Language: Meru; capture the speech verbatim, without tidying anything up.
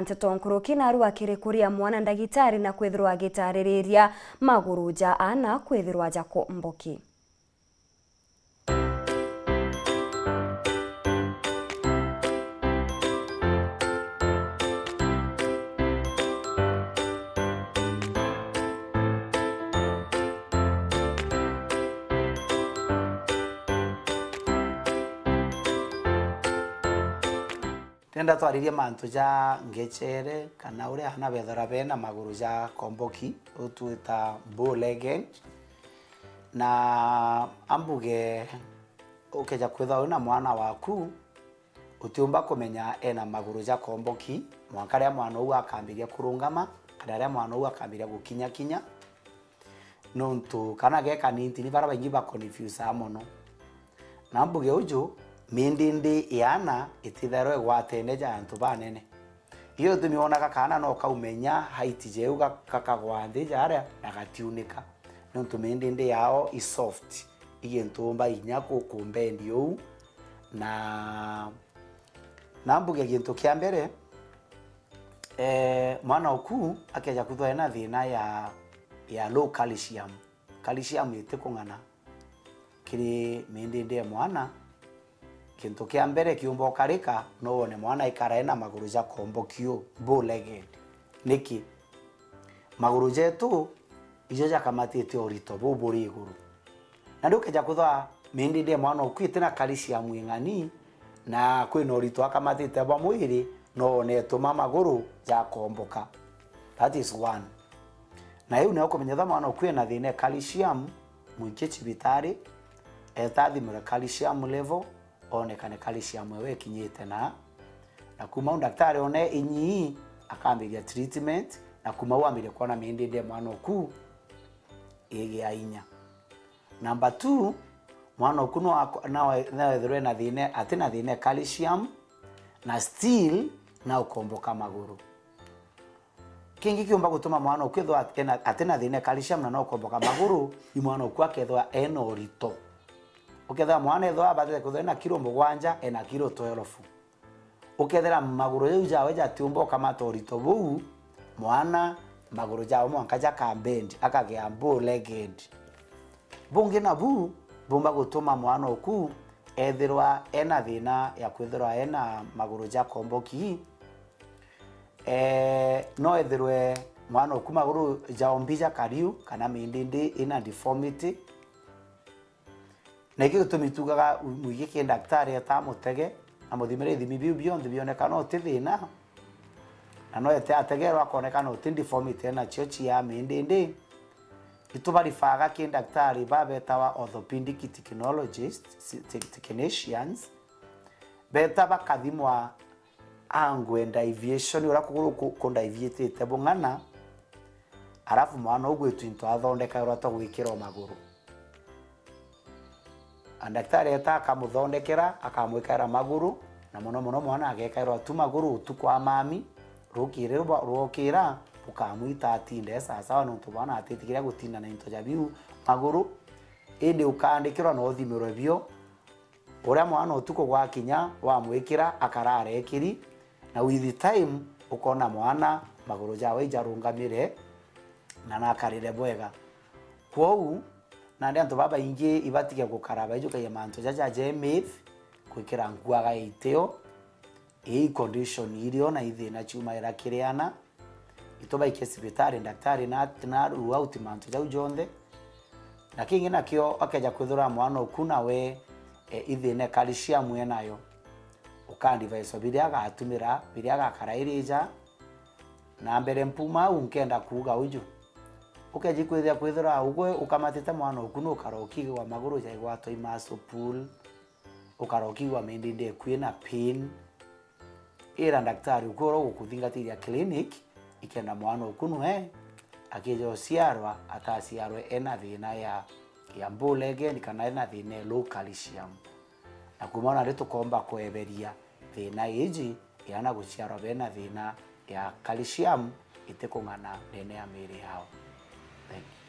Nteto nkuruki, narua kiri kuria mwana ndagitari na kwithirwa agitaririria maguru ja aana kwithirwa jakomboki. Ndenda twaririe mantu ja ngechere, kana uria aana bethagirwa bena maguru ja komboki, u twita bow legged. Na ambuge, ukeja kwithirwa wina mwana waku, utiumba kumenya ena maguru ja komboki, mwanka riria mwana uu akambiria kurungama, kana riria mwana uu akambiria gukinyakinya. Nontu kana ge kanini, ni bara baingi ba confuseaa mono. Na mbuge uju, mindindi ya aana itithairwa igwatene ja antu banene. Iyo itumi wonaga kaana no kaumenya height jeu ga-, gakagwa nthi jaria na gatiunika. Nontu mindindi yao i soft, i gintu umba inya ku-, kumbendi uu. Na, na mbuge gintu kia mbere, eh, mwana oku akeja kwithwa ena thina ya, ya low calcium. Calcium itikung'ana kiri mindindi ya mwana. Gintu kia mbere kiumba ukarika, no wone mwana aikara ena maguru ja komboki uu, bow legged. Niki? Maguru jetu ijo jakamatite urito buu buri iguru. Na riu ukeja kwithwa mindindi ya mwana oku iti na calcium ing'ani, na kwina urito akamatite bwa mwiri, no wone ituma maguru jakomboka. That is one. Na iu nio kumenya ethirwa mwana oku ena thina e calcium, mwikie cibitari, eta athimirwe calcium level, onekane calcium ewe ikinyite na, na kuma au daktari one inyii, akambiria treatment, na kuma au ambirie kwona mindindi ya mwana oku igia inya. Number two, mwana oku no ako-, no, no ethirwe ena thina, atina thina e calcium, na still no ukomboka maguru. Kingi kiumba gutuma mwana oku ethirwa ena, atina thina e calcium na no ukomboka maguru, i mwana oku akethirwa ena urito. Ukethira mwana ethirwa abatite kwithirwa ena kilo mugwanja, ena kilo twelve. Ukethira maguru jau jawe jatiumba ukamata urito buu, mwana maguru jawe mwanka jakabendi, akagea bow legged. Bungi nabu bumba gutuma mwana oku ethirwa ena thina ya kwithirwa ena maguru jakomboki, eh, no ethirwe mwana oku maguru jaombi jakariu kana mindindi ina deformity. Na iki gitumi tugaga mwige ki daktari eta amutege, amuthimire ithimi biu bionthe bionekana uti thina, na no ete ategerwa akonekana uti deformity enacio cia mindindi, itubarifaga ki daktari babetawa orthopedic technologists, si-, te-, technicians, beta bakathimwa angle deviation, uria kuguru ku-, kundaivitite bung'ana, arafu mwana ugwitu into athondekairwa twa gwikirwa maguru. Na daktari eta akamuthondekera, akamwikaira maguru, na mono mono mwana agekairwa tu maguru utuku wa mami, rukiri rwa-, rwokira, bukamwita atinde sawasawa, nontu mwana atitikiria gutinda na into ja biu maguru, indi ukaandikirwa na uthimirwe bio. Uria mwana utuku gwakinya, wamwikira, akarara ekiri, na with time, ukona mwana maguru jawe ijarungamire na nakarire bwega. Kwou, nandi antu babaingi ibatige gukara baijukagia mantu jaja ja myth, gwikira nkuaga ya itio, ii condition irio na ithina ciumagira kiri ana, itubaikie cibitari, daktari na, na rule out mantu jau jonthe. Na kingi nakio, akeja kwithirwa mwana oku nawe, e, ithina e calcium enayo, uka advise biria agatumira, biria agakara irija. Na mbere mpuma au, nkenda kuuga uju, ukeji kwithia kwithirwa ugwe ukamatite mwana oku, nukara ukigwa maguru jaigwatwa i muscle pull, ukara ukigwa mindindi eku ina pain, ira daktari ukwirwa gukuthingatithia clinic, ikenda mwana uku nwe akija uciarwa, ataciarwe ena thina ya, ya bow legged kana ena thina ya low calcium. Na kuma nari tukomba kweberia thina iji, yana guciarwa bena thina ya calcium itikung'ana ndene ya miiri yao. Thank you.